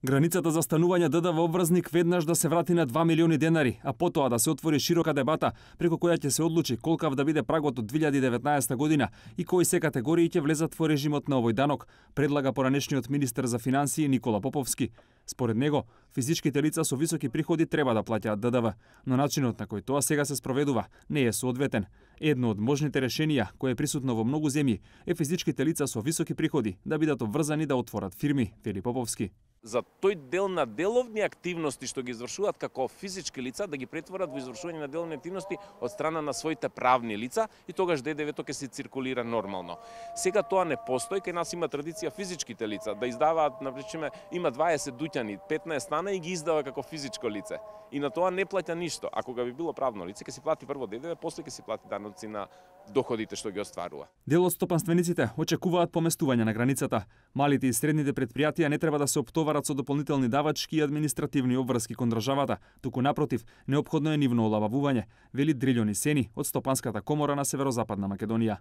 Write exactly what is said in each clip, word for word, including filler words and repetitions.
Границата за станување ДДВ обврзник веднаш да се врати на два милиони денари, а потоа да се отвори широка дебата преку која ќе се одлучи колкав да биде прагот од две илјади и деветнаесета година и кои се категории ќе влезат во режимот на овој данок, предлага поранешниот министер за финансии Никола Поповски. Според него, физичките лица со високи приходи треба да плаќаат ДДВ, но начинот на кој тоа сега се спроведува не е соодветен. Едно од можните решенија, кое е присутно во многу земји, е физичките лица со високи приходи да бидат обврзани да отворат фирми, вели Поповски. За тој дел на деловни активности што ги извршуваат како физички лица да ги претворат во извршување на деловни активности од страна на своите правни лица и тогаш ДДВ-то ќе се циркулира нормално. Сега тоа не постои, кај нас има традиција физичките лица да издаваат, например, има дваесет дуќани, петнаесет стана и ги издава како физичко лице. И на тоа не плаќа ништо. Ако га би било правно лице, ќе си плати прво ДДВ, после ќе си плати даноци на доходите што ги остварува. Дел од стопанствениците очекуваат поместување на границата. Малите и средните предпријатија не треба да се оптоварат со дополнителни давачки и административни обврски кон државата, туку напротив, неопходно е нивно олабавување, вели Дрилјон Сени од Стопанската комора на Северозападна Македонија.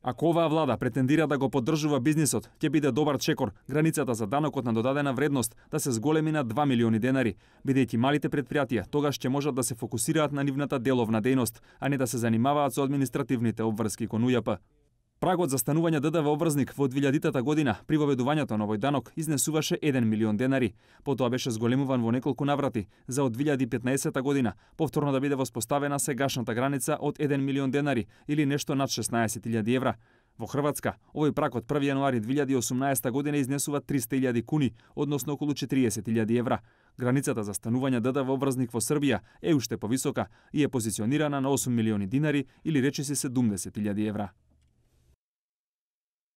Ако оваа влада претендира да го поддржува бизнисот, ќе биде добар чекор границата за данокот на додадена вредност да се зголеми на два милиони денари, бидејќи малите предпријатија тогаш ќе можат да се фокусираат на нивната деловна дејност, а не да се занимаваат со административните обврски кон У Ј П. Прагот за станување ДДВ обврзник во две илјадитата година при воведувањето на овој данок изнесуваше еден милион денари. Потоа беше зголемуван во неколку наврати за од две илјади и петнаесета година повторно да биде воспоставена сегашната граница од еден милион денари или нешто над шеснаесет илјади евра. Во Хрватска, овој праг од први јануари две илјади и осумнаесета година изнесува триста илјади куни, односно околу четириесет илјади евра. Границата за станување ДДВ обврзник во Србија е уште повисока и е позиционирана на осум милиони динари или речиси седумдесет илјади евра.